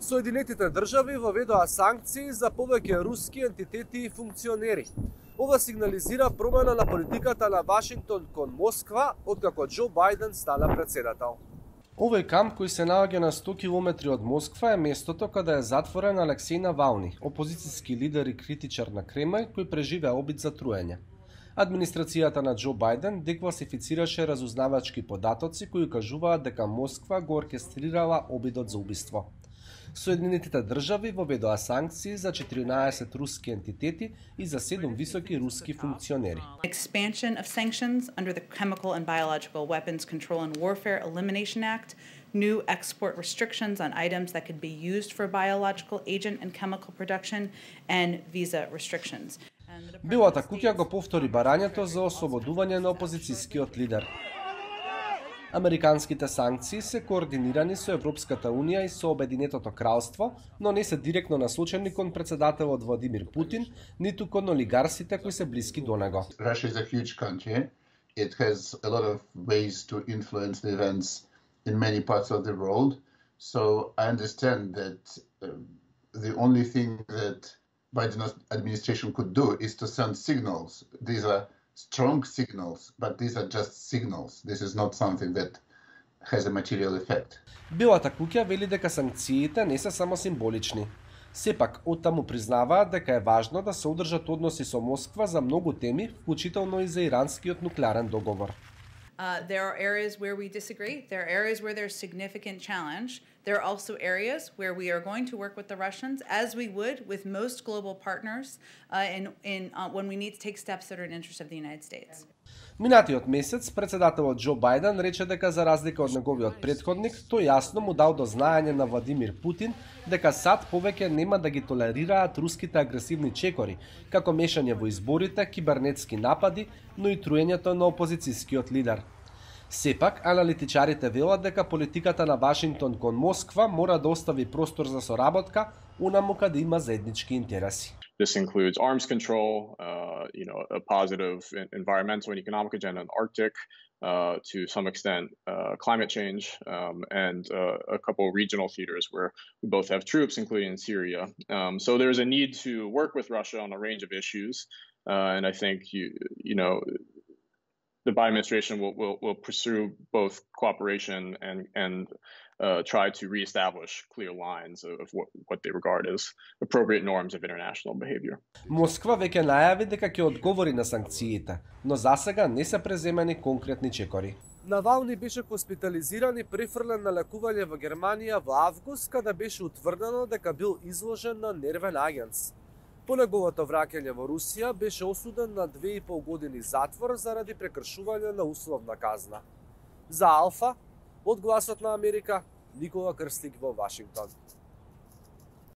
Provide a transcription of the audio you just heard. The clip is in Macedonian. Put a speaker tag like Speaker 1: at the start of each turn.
Speaker 1: Соединетите држави воведоа санкции за повеќе руски ентитети и функционери. Ова сигнализира промена на политиката на Вашингтон кон Москва, откако Џо Бајден стана председател.
Speaker 2: Овој камп кој се наоѓа на 100 километри од Москва е местото каде е затворен Алексеј Навални, опозицијски лидер и критичар на Кремљ кој преживеа обид за труење. Администрацијата на Џо Бајден декласифицираше разузнавачки податоци кои кажуваат дека Москва го оркестрирала обидот за убиство. Соединетите држави воведоа санкции за 14 руски ентитети и за 7 високи руски функционери.
Speaker 3: Expansion of sanctions under the Chemical and Biological Weapons Control and Warfare Elimination Act, new export restrictions on items that could be used for biological agent and chemical production, and visa restrictions.
Speaker 2: Белата куќа го повтори барањето за ослободување на опозицијскиот лидер. Американските санкции се координирани со Европската Унија и со Обединетото кралство, но не се директно насочени кон председателот Владимир Путин, ниту кон олигарсите кои се блиски до него.
Speaker 4: Russia is a huge country. It has a lot of ways to influence the events in many parts of the world. So I understand that the only thing that Biden's administration could do is to send signals. These are strong signals, but these are just signals. This is not something that has a material effect.
Speaker 2: Белата куќа вели дека санкциите не се само символични. Сепак, оттаму признаваат дека е важно да се одржат односи со Москва за многу теми, вклучително и за иранскиот нуклеарен договор.
Speaker 3: There are areas where we disagree. There are areas where there's significant challenge. There are also areas where we are going to work with the Russians, as we would with most global partners, when we need to take steps that are in interest of the United States.
Speaker 2: Минатиот месец, председателот Џо Бајден рече дека за разлика од неговиот претходник, тој јасно му дал до знаење на Владимир Путин дека САД повеќе нема да ги толерираат руските агресивни чекори, како мешање во изборите, кибернетски напади, но и труењето на опозицијскиот лидер. Сепак, аналитичарите велат дека политиката на Вашингтон кон Москва мора да остави простор за соработка, онаму каде има заеднички интереси.
Speaker 5: This includes arms control, a positive environmental and economic agenda in the Arctic, to some extent climate change, and a couple of regional theaters where we both have troops, including in Syria. So there's a need to work with Russia on a range of issues, and I think the Biden administration will pursue both cooperation and try to reestablish clear lines of what they regard as appropriate norms of international behavior.
Speaker 2: Москва веќе најави дека ќе одговори на санкциите, но засега не се преземени конкретни чекори.
Speaker 1: Навални беше хоспитализиран и префрлен на лекување во Германија во август, када беше утврдено дека бил изложен на нервен агенс. По неговото враќање во Русија беше осуден на 2,5 години затвор заради прекршување на условна казна. За Алфа, од Гласот на Америка, Никола Крстик во Вашингтон.